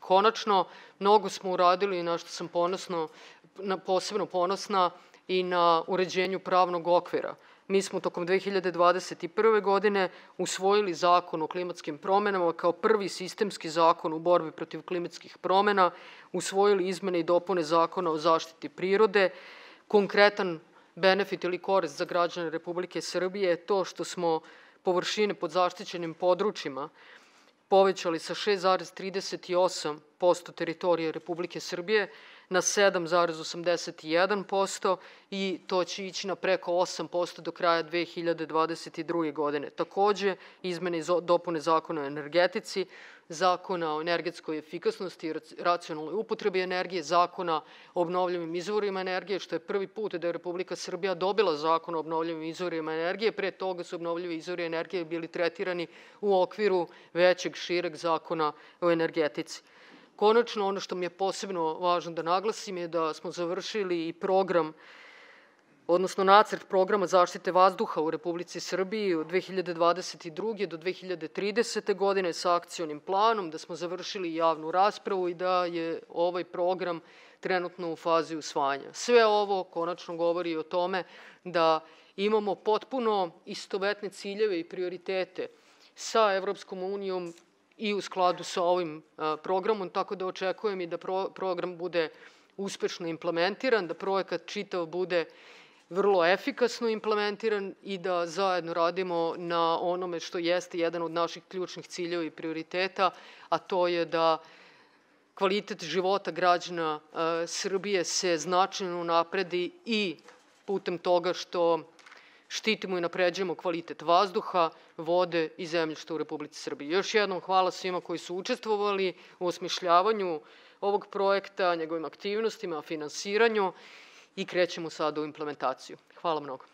Konačno, mnogo smo uradili, na što sam posebno ponosna, i na uređenju pravnog okvira. Mi smo tokom 2021. godine usvojili Zakon o klimatskim promenama kao prvi sistemski zakon u borbi protiv klimatskih promena, usvojili izmene i dopune Zakona o zaštiti prirode. Konkretan benefit ili korist za građane Republike Srbije je to što smo površine pod zaštićenim područjima povećali sa 6,38% teritorije Republike Srbije na 7,81% i to će ići na preko 8% do kraja 2022. godine. Takođe, izmene i dopune Zakona o energetici, Zakona o energetskoj efikasnosti i racionalnoj upotrebi energije, Zakona o obnovljivim izvorima energije, što je prvi put da je Republika Srbija dobila Zakon o obnovljivim izvorima energije. Pre toga su obnovljivi izvori energije bili tretirani u okviru većeg, šireg Zakona o energetici. Konačno, ono što mi je posebno važno da naglasim je da smo završili i program, odnosno nacrt programa zaštite vazduha u Republici Srbiji od 2022. do 2030. godine sa akcionim planom, da smo završili javnu raspravu i da je ovaj program trenutno u fazi usvajanja. Sve ovo konačno govori o tome da imamo potpuno istovetne ciljeve i prioritete sa Evropskom unijom i u skladu sa ovim programom, tako da očekujem i da program bude uspešno implementiran, da projekat čitav bude vrlo efikasno implementiran i da zajedno radimo na onome što jeste jedan od naših ključnih ciljeva i prioriteta, a to je da kvalitet života građana Srbije se značajno unapredi i putem toga što štitimo i napređujemo kvalitet vazduha, vode i zemljišta u Republici Srbiji. Još jednom hvala svima koji su učestvovali u osmišljavanju ovog projekta, njegovim aktivnostima, finansiranju i krećemo sada u implementaciju. Hvala mnogo.